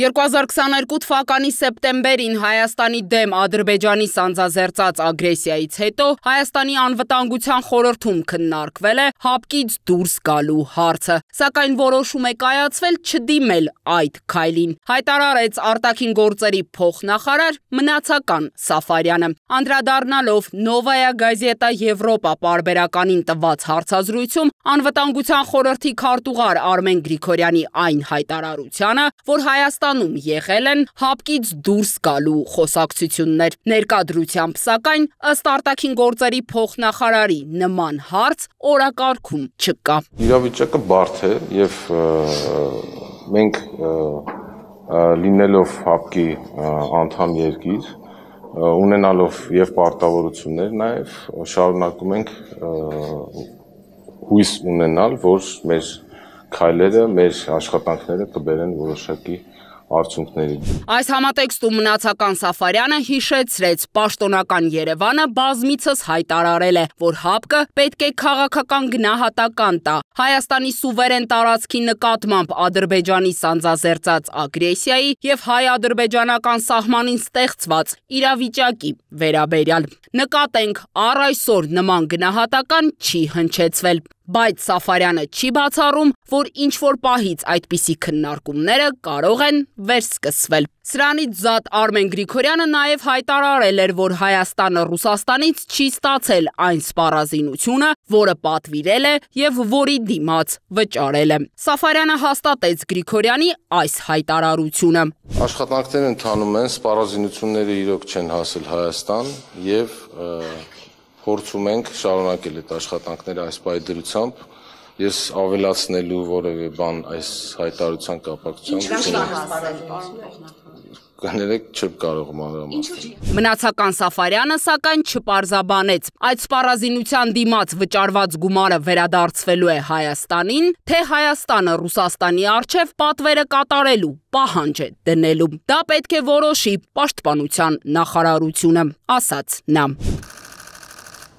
2022 թվականի սեպտեմբերին Հայաստանի դեմ Ադրբեջանի սանձազերծած ագրեսիայից հետո Հայաստանի անվտանգության խորհրդում քննարկվել է հապկից դուրս գալու հարցը, սակայն որոշում է կայացվել չդիմել այդ քայլին, հայտարարեց արտաքին գործերի փոխնախարար Մնացական Սաֆարյանը, անդրադառնալով Նովայա Գազետա Եվրոպա պարբերականին տված հարցազրույցում անվտանգության խորհրդի քարտուղար Արմեն Գրիգորյանի այն հայտարարությանը, որ Հայաստանում եղել են հապկից դուրս գալու խոսակցություններ, ներկայությամբ սակայն ըստ արտաքին գործերի փոխնախարարի նման հարց օրակարգում չկա։ Իրավիճակը բարդ է եւ մենք լինելով հապկի անդամ երկիր, ունենալով եւ պարտավորություններ նաեւ շարունակում ենք հույս ունենալ, որ մեր քայլերը, մեր աշխատանքները կբերեն որոշակի արդյունքների։ Այս համատեքստում Մնացական Սաֆարյանը հիշեցրեց պաշտոնական Երևանը բազմիցս հայտարարել է, որ հապկը պետք է քաղաքական գնահատական տա Հայաստանի սուվերեն տարածքի նկատմամբ Ադրբեջանի սանձազերծած ագրեսիայի եւ հայ-ադրբեջանական սահմանին ստեղծված իրավիճակի վերաբերյալ։ Նկատենք, առ այսօր նման գնահատական չի հնչեցվել, բայց Սաֆարյանը չի բացառում, որ ինչ-որ պահից այդպիսի քննարկումները կարող են վերսկսվել։ Սրանից զատ Արմեն Գրիգորյանը նաև հայտարարել էր, որ Հայաստանը Ռուսաստանից չի ստացել այն սպառազինությունը, որը պատվիրել է եւ որի դիմաց վճարել է։ Սաֆարյանը հաստատեց Գրիգորյանի այս հայտարարությունը։ Աշխատանքները ընթանում են, սպառազինությունները իրոք չեն հասել Հայաստան եւ փորձում ենք շարունակել այդ աշխատանքները այս պայդրությամբ։ Ես ավելացնելու որևէ բան այս հայտարարության կապակցությամբ կներեք չեմ կարող մանրամասնել։ Մնացական Սաֆարյանը սակայն չպարզաբանեց, այդ սպառազինության դիմաց վճարված գումարը վերադարձվելու է Հայաստանին, թե Հայաստանը Ռուսաստանի առջև պատվերը կատարելու պահանջ է դնելու։ Դա պետք է որոշի պաշտպանության նախարարությունը, ասաց նա։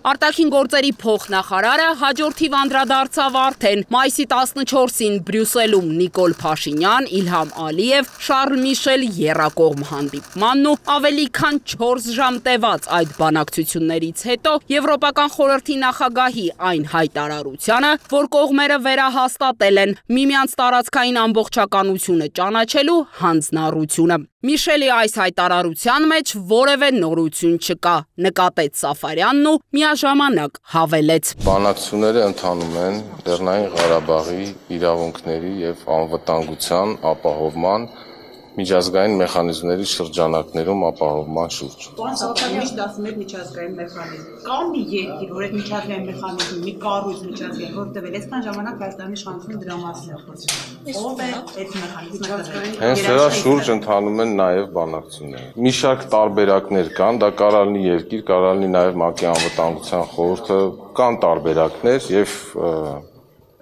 Արտաքին գործերի փոխնախարարը հաջորդիվ անդրադարձավ արդեն մայիսի 14-ին Բրյուսելում Նիկոլ Փաշինյան, Իլհամ Ալիև, Շարլ Միշել եռակողմ հանդիպմանն ու ավելի քան 4 ժամ տևած այդ բանակցություններից հետո Եվրոպական խորհրդի նախագահի այն հայտարարությանը, որ կողմերը վերահաստատել են միմյանց տարածքային ամբողջականությունը ճանաչելու հանձնառությունը։ Միշելի այս հայտարարության մեջ որևէ նորություն չկա, նկատեց Սաֆարյանն ու միաժամանակ հավելեց. Բանակցությունները ընթանում են Լեռնային Ղարաբաղի իրավունքների եւ անվտանգության ապահովման միջազգային մեխանիզմների շրջանակներում ապահովման շուրջ։ Պարոն Սաֆարյան, միշտ ասում եք միջազգային մեխանիզմ։ Կա մի երկիր, որ այդ միջազգային մեխանիզմը, մի կառույց միջազգային, որտեղ այսքան ժամանակ Հայաստանի իշխանությունը դրա մասին է խոսում։ Ո՞վ է այդ մեխանիզմը։ Հենց դրա շուրջ ընթանում են նաեւ բանակցություններ։ Մի շարք տարբերակներ կան, դա կարող լինի երկիր, կարող լինի նաեւ ՄԱԿ-ի անվտանգության խորհուրդը, կան տարբերակներ եւ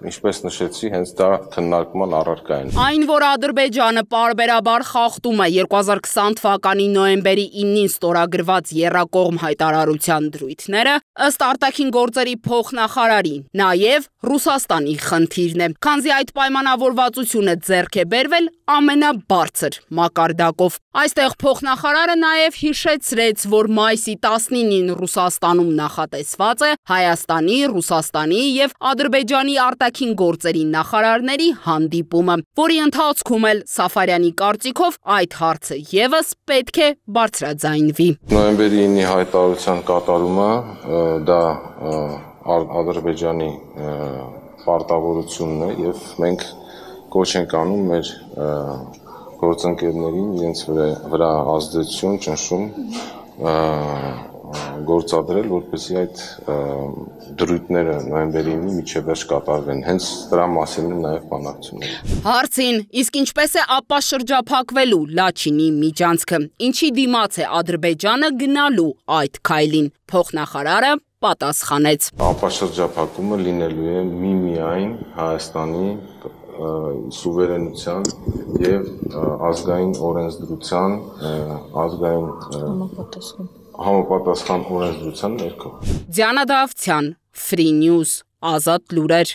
Ինչպես նշեցի, հենց դա քննարկման առարկա են։ Այն, որ Ադրբեջանը պարբերաբար խախտում է 2020 թվականի նոյեմբերի 9-ին ստորագրված եռակողմ հայտարարության դրույթները, ըստ արտաքին գործերի փոխնախարարի, նաև Ռուսաստանի խնդիրն է, քանզի այդ պայմանավորվածությունը ձեռք է բերվել ամենաբարձր մակարդակով։ Այստեղ փոխնախարարը նաև հիշեցրեց, որ մայիսի 19-ին Ռուսաստանում նախատեսված է Հայաստանի, Ռուսաստանի եւ Ադրբեջանի արտաքին գործերի նախարարների հանդիպումը, որի ընթացքում էլ Սաֆարյանի կարծիքով այդ հարցը եւս պետք է բարձրաձայնվի։ Նոյեմբերի 9-ի հայտարարության կատարումը դա Ադրբեջանի պարտավորությունն է եւ մենք կոչ ենք անում մեր գործընկերներին իրենց վրա ազդեցություն ճնշում գործադրել, որպեսզի այդ դրույթները նոյեմբերի 9-ի մինչև վերջ կատարվեն։ Հենց դրա մասին են նաև բանակցությունները։ Հարցին, իսկ ինչպես է ապաշրջափակվելու Լաչինի միջանցքը, ինչի դիմաց է Ադրբեջանը գնալու այդ քայլին, փոխնախարարը պատասխանեց. Ապաշրջափակումը լինելու է միմիայն Հայաստանի սուվերենության եւ ազգային օրենսդրության, ազգային համապատասխան օրենսդրության ներքո։ Դիանա Դավթյան, Free News, Ազատ լուրեր։